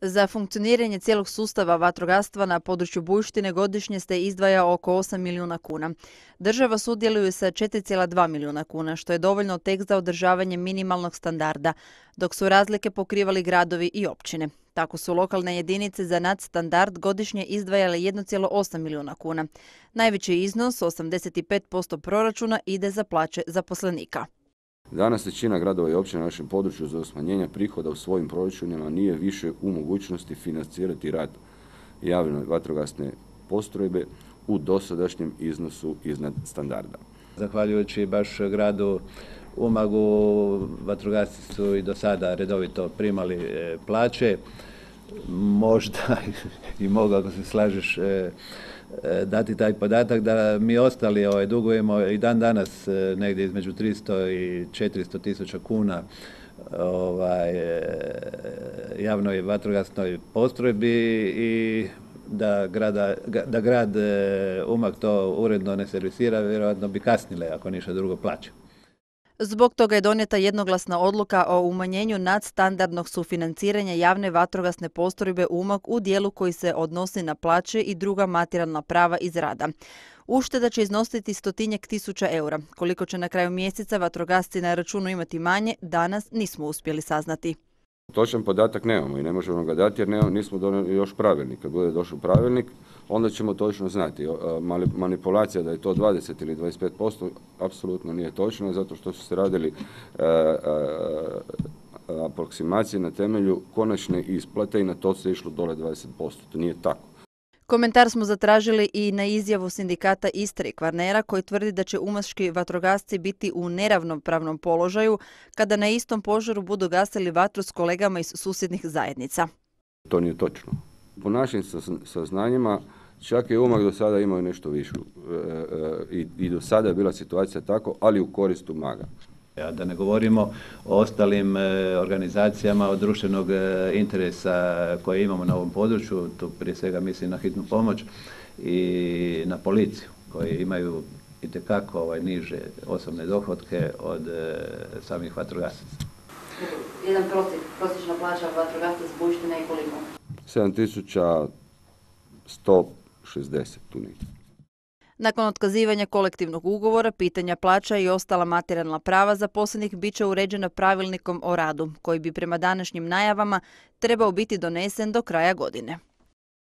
Za funkcioniranje cijelog sustava vatrogastva na području Bujštine godišnje se izdvaja oko 8 milijuna kuna. Država sudjeluje sa 4,2 milijuna kuna, što je dovoljno tek za održavanje minimalnog standarda, dok su razlike pokrivali gradovi i općine. Tako su lokalne jedinice za nadstandard godišnje izdvajale 1,8 milijuna kuna. Najveći iznos, 85% proračuna, ide za plaće zaposlenika. Danas većina gradova i općina na našem području za smanjenje prihoda u svojim proračunima nije više u mogućnosti financirati rad javne vatrogasne postrojbe u dosadašnjem iznosu iznad standarda. Zahvaljujući baš gradu Umagu, vatrogasci su i do sada redovito primali plaće. Možda i mogu, ako se slažeš, dati taj podatak da mi ostali dugujemo i dan danas negdje između 300 i 400 tisuća kuna javnoj vatrogasnoj postrojbi i da grad Umag to uredno ne servisira, vjerojatno bi kasnile, ako ništa drugo, plaće. Zbog toga je donijeta jednoglasna odluka o umanjenju nadstandardnog sufinanciranja javne vatrogasne postrojbe Umag u dijelu koji se odnosi na plaće i druga materijalna prava iz rada. Ušteda će iznositi 100-tinjak tisuća eura. Koliko će na kraju mjeseca vatrogasci na računu imati manje, danas nismo uspjeli saznati. Točan podatak nemamo i ne možemo ga dati jer nismo donijeli još pravilnik. Kad bude došao pravilnik, onda ćemo točno znati. Manipulacija da je to 20 ili 25% apsolutno nije točno, zato što su se radili aproksimacije na temelju konačne isplate i na to se išlo dole 20%. To nije tako. Komentar smo zatražili i na izjavu sindikata Istre i Kvarnera, koji tvrdi da će umaški vatrogasci biti u neravnopravnom položaju kada na istom požaru budu gasili vatru s kolegama iz susjednih zajednica. To nije točno. Po našim saznanjima čak je Umag do sada imao nešto više i do sada je bila situacija tako, ali u korist Umaga. Da ne govorimo o ostalim organizacijama od društvenog interesa koje imamo na ovom području, tu prije svega mislim na hitnu pomoć i na policiju, koji imaju itekako niže osobne dohotke od samih vatrogasaca. Jedan prosječna plaća vatrogasca s Bujštine je koliko? 7.160 tu negdje. Nakon otkazivanja kolektivnog ugovora, pitanja plaća i ostala materijalna prava zaposlenih bit će uređena pravilnikom o radu, koji bi prema današnjim najavama trebao biti donesen do kraja godine.